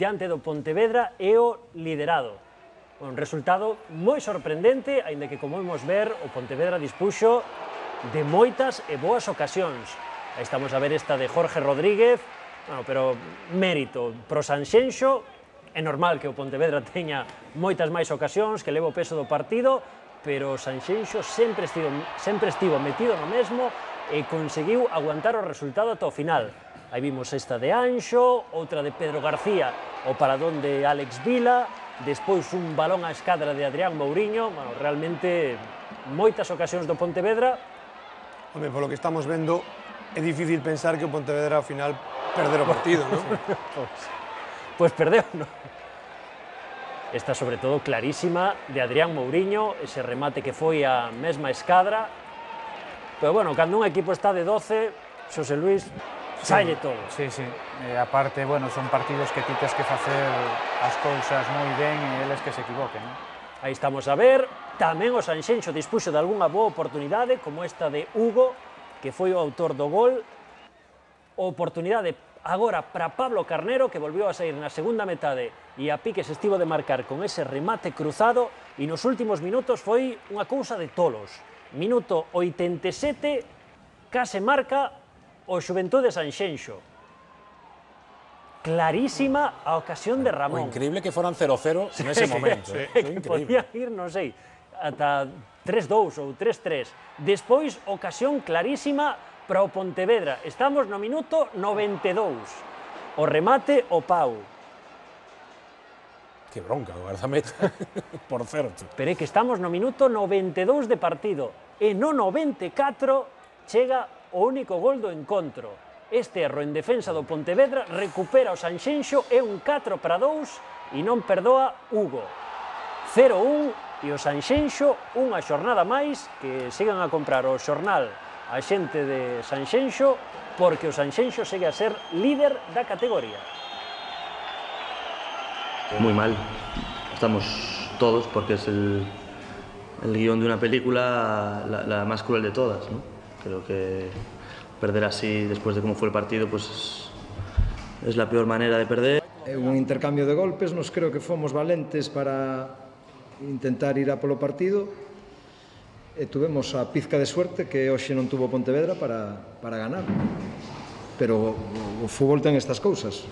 diante do Pontevedra e o liderado. Un resultado moi sorprendente, aínda que, como vamos ver, o Pontevedra dispuxo de moitas e boas ocasións. Aí estamos a ver esta de Jorge Rodríguez, pero mérito pro Sanxenxo. É normal que o Pontevedra teña moitas máis ocasións, que leva o peso do partido, pero o Sanxenxo sempre estivo metido no mesmo e conseguiu aguantar o resultado ata o final. Aí vimos esta de Anxo, outra de Pedro García, o paradón de Alex Vila, despois un balón á escadra de Adrián Mouriño. Realmente moitas ocasións do Pontevedra. Home, polo que estamos vendo, é difícil pensar que o Pontevedra ao final perder o partido, non? Pois perdeu, non? Esta, sobre todo, clarísima de Adrián Mouriño, ese remate que foi a mesma escadra. Pero, bueno, cando un equipo está de 12, Xosé Luis, saile todo. Sí, sí. Aparte, bueno, son partidos que ti tes que facer as cousas moi ben e eles que se equivoquen, non? Aí estamos a ver, tamén o Sanxenxo dispuxo de algunha boa oportunidade, como esta de Hugo, que foi o autor do gol. Oportunidade agora para Pablo Carnero, que volvió a sair na segunda metade e a pique se estivo de marcar con ese remate cruzado, e nos últimos minutos foi unha cousa de tolos. Minuto 87, case marca o Xuventude Sanxenxo. Clarísima a ocasión de Ramón. O increíble que foran 0-0 nese momento. Que podía ir, non sei, ata 3-2 ou 3-3. Despois, ocasión clarísima para o Pontevedra. Estamos no minuto 92. O remate, o Pau. Que bronca, o guardameta, por certo. Pero é que estamos no minuto 92 de partido. E no 94 chega o único gol do encontro. Este erro en defensa do Pontevedra recupera o Sanxenxo, é un 4-2 e non perdoa Hugo. 0-1 e o Sanxenxo unha xornada máis que sigan a comprar o xornal a xente de Sanxenxo, porque o Sanxenxo segue a ser líder da categoría. Muy mal, estamos todos porque es el guión de una película la más cruel de todas, ¿no? Creo que perder así después de cómo fue el partido pues es la peor manera de perder. Un intercambio de golpes, nos creo que fomos valentes para intentar ir a polo partido e tuvemos a pizca de suerte que hoxe non tuvo Pontevedra para ganar, pero o fútbol ten estas cousas.